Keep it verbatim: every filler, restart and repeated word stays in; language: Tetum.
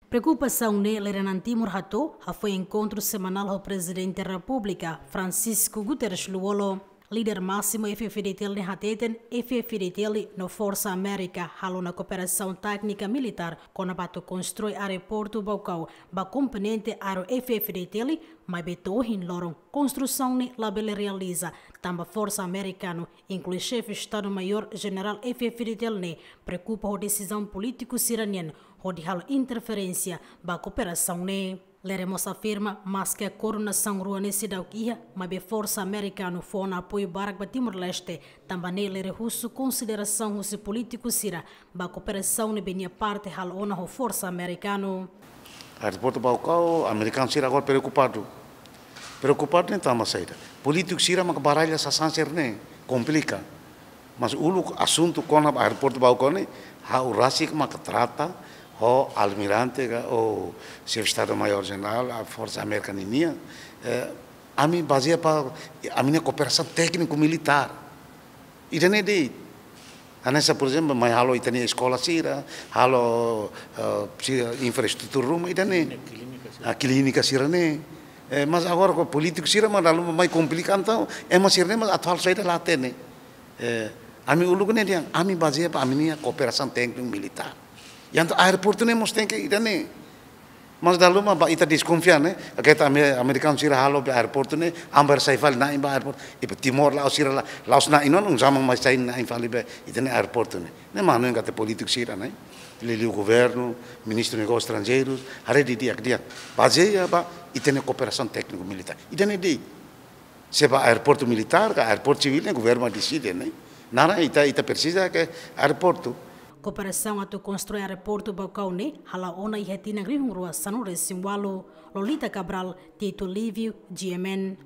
Preokupasaun ne'e lideransa Timor hato'o hafoin enkontru semanál ho Prezidente Repúblika, Francisco Guterres Lú-Olo. Líder másimu F-FDTL ne'e hateten, F-FDTL no Forsa Amérika halo ona kooperasaun téknika militár kona-ba atu konstrui aeroportu Baucau ba komponente aéreu F-FDTL, maibé to'o ohin loron konstrusaun ne'e labele realiza, tanba Forsa Amerikanu, inklui Xefe Estadu Maiór Jenerál F-FDTL ne'e preokupa ho desizaun polítiku sira-nian hodi halo interferénsia ba kooperasaun ne'e. Líder mós afirma, maske koordenasaun rua ne'e seidauk iha, maibé Forsa Amerikanu fó ona apoiu barak ba Timor-Leste, tanba ne'e líder husu konsiderasaun husi polítiku sira ba kooperasaun ne'ebé nia parte halo ona ho Forsa Amerikanu. Aeroportu Baucau, amerikanu sira agora preokupadu. Preokupadu ne'e tanba saida? Polítiku sira maka baralha sasán sira-ne'e, komplika. Mas uluk asuntu kona-ba aeroportu Baucau ne'e, ha'u rasik maka trata ho almirante ka, ou Xefe Estadu Maiór Jenerál, a Forsa Amérika ninian, eh, ami bazeia ba ami-nia kooperasaun tékniku militár. Ida-ne'e de'it. Hanesan, por ezemplu, mai halo ita-nia eskola sira, halo, eh, si-, infraestrutura ruma, ida-ne'e. Klínika, klínika sira. Ah, klínika sira-ne'e. Eh, mas agora ho polítiku sira mak dala ruma mai komplika, entaun ema sira-ne'e mak atu halo saida la hatene. Eh, ami uluk ne'e dehan, ami bazeia ba ami-nia kooperasaun tékniku militár. Entaun aeroportu ne'e mós tenke ida-ne'e. Mas dala ruma ba ita deskonfia ne'e, katak ame-, amerikanu sira halo be aeroportu ne'e, ami bele sai fali na'in ba aeroportu. I ba Timor la'ós sira la, la'ós na'in ona, un zaman mai sai na'in fali be ita-nia aeroportu ne'e. Ne'e mak hanoin katak polítiku sira-ne'e, liuliu governu, ministru negósius estranjeirus, haree didi'ak dehan. Bazeia ba ita-nia kooperasaun tékniku militár. Ida-ne'e de'it. Se ba aeroportu militár ka aeroportu sivíl ne'e governu mak deside ne'e. Naran ita, ita presiza ke aeroportu. Kooperasaun atu konstrui aeroportu Baucau ne'e hala'o ona iha tinan rihun rua sanulu-resin-ualu. Lolita Cabral, Tito Livio, G M N.